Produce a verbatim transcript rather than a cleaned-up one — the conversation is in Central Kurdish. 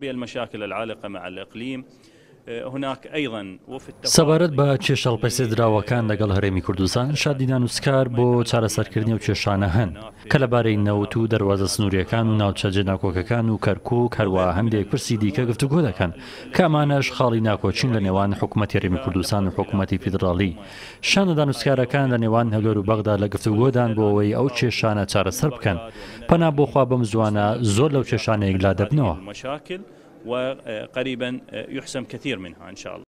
المشاكل العالقة مع الإقليم هناك أيضا سەبارەت بە کێشە هەڵپەسێردراوەکان لەگەڵ هەرێمی کوردستان، شاندی دانوستکار بۆ چارەسەرکردنی ئەو کێشانە هەن کە لەبارەی نەوت و دەروازە سنووریەکان و ناوچە جێناکۆکەکان و کەرکوک، هەروەها هەندێک پرسی دیکە گفتوگۆ دەکەن کە ئەمانەش خاڵی ناکۆکین لە نێوان حکوومەتی هەرێمی کوردستان و حکوومەتی فیدراڵی. شاندە دانوستکارەکان لە نێوان هەولێر و بەغدا لە گفتوگۆدان بۆ ئەوەی ئەو کێشانە چارەسەر بکەن. پەنا بۆ خوا بەم زووانە زۆر لەو کێشانە یەکلا دەبنەوە. وقريبا يحسم كثير منها إن شاء الله.